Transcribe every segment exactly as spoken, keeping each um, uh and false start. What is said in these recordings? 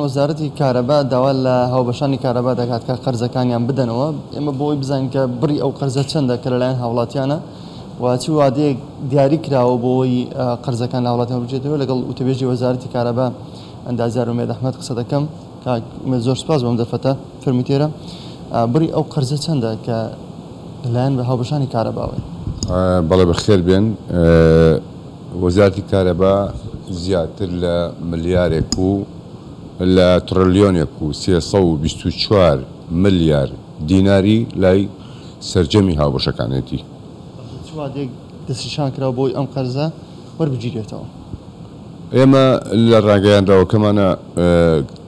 وەزارەتی کارەبا داوا لە هاوبەشانی کارەبا دەکات کە قەرزەکانیان بدەنەوە. ئێمە بۆی بزانین کە بڕی ئەو قەرزە چەندە کە لەلایەن هاوڵاتیانە و چی وادەیەک دیاری کراوە بۆی قەرزەکان لە هاوڵاتیان بچێتەوە. لەگەڵ وتەبێژی وەزارەتی کارەبا ئەندازیار ئومێد ئەحمەد قسە دەکەم. کاک ئومێد زۆر سپاس بۆم دەرفەتە. فەرمووتێرە بڕی ئەو قەرزە چەندە کە لەلایەن بە هاوبەشانی کارەباوە؟ بەڵێ بەخێر بێن. وەزارەتی کارەبا زیاتر لە ملیارێک و لە تڕلیۆنێک و سێ سەد و بیست و چوار ملیار دیناری لای سەرجەمی هاوبەشەکانێتی. چ وادەیەک دەستنیشان کراوە بۆی ئەم قەرزە وەربگیرێتەوە؟ ئێمە لە ڕاگەیاندراوەکەمانە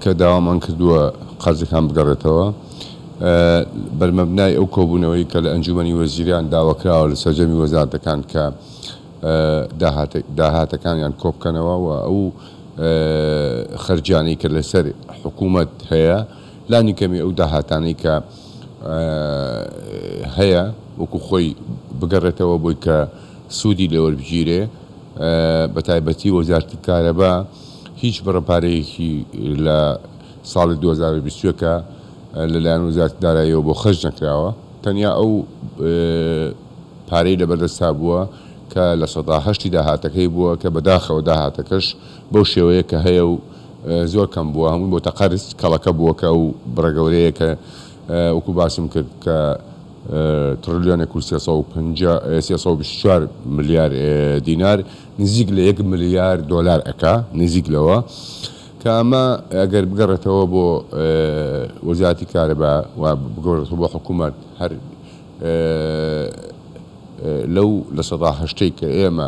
کە داوامان کردووە قەرزەکان بگەڕێتەوە، بەرمەبنای ئەو کۆبوونەوەی کە لە ئەنجومەنی وەزیران داواکراوە لە سەرجەمی وەزارەتەکان کە داهاتەکانیان کۆبکەنەوە و ئەو خەرجانەی کە لەسەر حکوومەت هەیە لانی کەمی ئەو داهاتانەی کە هەیە وەکو خۆی بگەڕێتەوە بۆی کە سوودی لێوەربگیرێ. بە تایبەتی وەزارەتی کارەبا هیچ بڕە پارەیەکی لە ساڵی دوو هەزار و بیست و یەک لەلایەن وەزارەتی داراییەوە بۆ خەرج نەکراوە، تەنیا ئەو پارەی لەبەردەستا بووە کە لە سەدا هەشتی داهاتەکەی بووە کە بەداخەوە داهاتەکەش بەو شێوەیە کە هەیە و زۆر کەم بووە، هەمووی بۆتە قەرز کەڵەکە بووە کە ئەو بڕە گەورەیە کە وەکو باسم کرد کە تڕلیۆنێک و سێ سەد و پەنجا سێ سەد و بیست و چوار ملیار دینار نزیک لە یەک ملیار دۆلار ئەکا، نزیک لەوە کە ئەمە ئەگەر بگەڕێتەوە بۆ وەزارەتی کارەبا و بگەڕێتەوە بۆ حکوومەت، هەر لەو لە سەدا هەشتەی کە ئێمە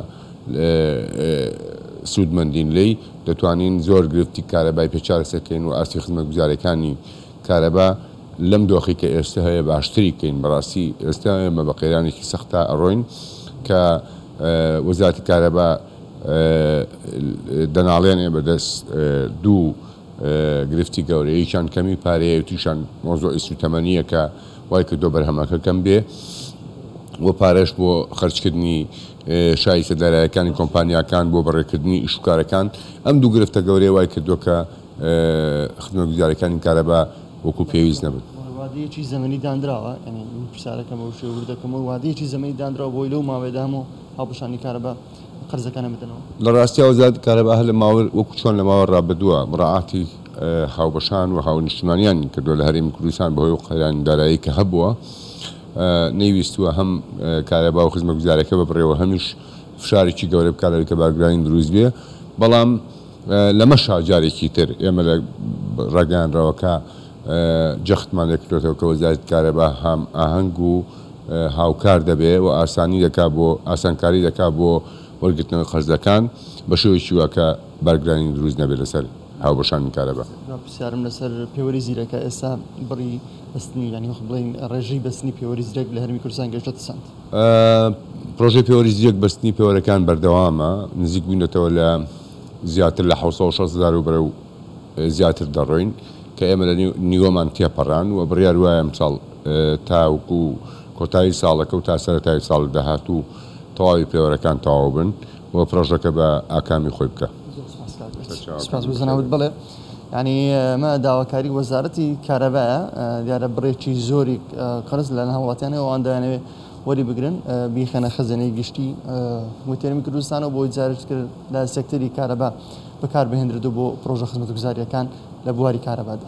سوودمەندین لێی دەتوانین زۆر گرفتی کارەبای پێ چارەسەرکەین و ئاستی خزمەتگوزاریەکانی کارەبا لەم دۆخی کە ئێستا هەیە باشتری کەین. بەڕاستی ئێستا ئێمە بە قەیرانێکی سەختا ئەڕۆین کە وەزارەتی کارەبا دەناڵێنێ بەدەست دوو گرفتی گەورە، یەکیان کەمی پارەیە و تووشیان مۆزوعی سوتەمەنیە کە وای کردووە بەرهەمەکە کەم بێ و پارەش بۆ خەرجکردنی شایستە دارایەکانی کۆمپانیاکان بۆ بەڕێکردنی ئیشوکارەکان. ئەم دوو گرفتە گەورەیە وای کردووە کە خزمەتگوزاریەکانی کارەبا وەکو پێویست نەبن. وادەیەکی زەمەنی دانراوە، یعنی پرسیارەکەمەوە شێوە وردەکەمەوە، وادەیەکی زەمەنی دانراوە بۆی لەو ماوەیەدا هەموو هاوبەشانی کارەبا قەرزەکانە بدەنەوە؟ لە ڕاستیا وەزارەتی کارەبا هەر لە ماوە وەکو چۆن لە ماوە ڕابردووە مراعاتی هاوبەشان و هاونیشتمانیان کردووە لە هەرێمی کوردستان بەهۆی ئەو قەیرانی دارایی کە هەبووە، نەیویستووە هەم کارەبا و خزمەتگوزاریەکە ببڕێەوە، هەمیش فشارێکی گەورە بکات لەوەی کە بارگرانی دروست بێ. بەڵام لەمەشا جارێکی تر ئێمە لە ڕاگەیاندراوەکە جەختمان لێکردوێتەوە کە وەزارەتی کارەبا هەم ئاهەنگ و هاوکار دەبێ و ئاسانی دەکا بۆ ئاسانکاری دەکا بۆ وەرگرتنەوەی قەرزەکان بە شێوەیەکی وا کە بارگرانی دروست نەبێت لەسەر هاوبەشانی کارەبا. پرسیارم لەسەر پێوەری زیرەکە، ئێستا بڕی بەستنی، یعنی وەک بڵێین ڕێژەی بەستنی پێوەری زیرەک لە هەرێمی کوردستان گەیشتە چەند؟ پرۆژەی پێوەری زیرەک بەستنی پێوەرەکان بەردەوامە، نزیک بووینەتەوە لە زیاتر لە حەوت سەد و شەست هەزار و بەرەو زیاتر دەڕۆین کە ئێمە لە نیوەمان تێپەڕان و بڕیار وایە ئەمساڵ تاوەکو کۆتایی ساڵەکە و تا سەرەتای ساڵ داهاتوو تەواوی پێوەرەکان تەواو بن و پرۆژەکە بە ئاکامی خۆی بکە. سپاس بۆ زەناوت. بڵێ یعنی ئەمە داواکاری وەزارەتی کارەبایە، دیارە بڕێکی زۆری قەرز لە هاوڵاتیانەوە ئەوان دەیانەوێت وەری بگرن بیخەنە خەزێنەی گشتی هەرێمی کوردستانەوە بۆی جارێک کرد لە سێکتەری کارەبا بەکاربهێنرێت و بۆ پرۆژە خزمەتگوزاریەکان لە بواری کارەبادا.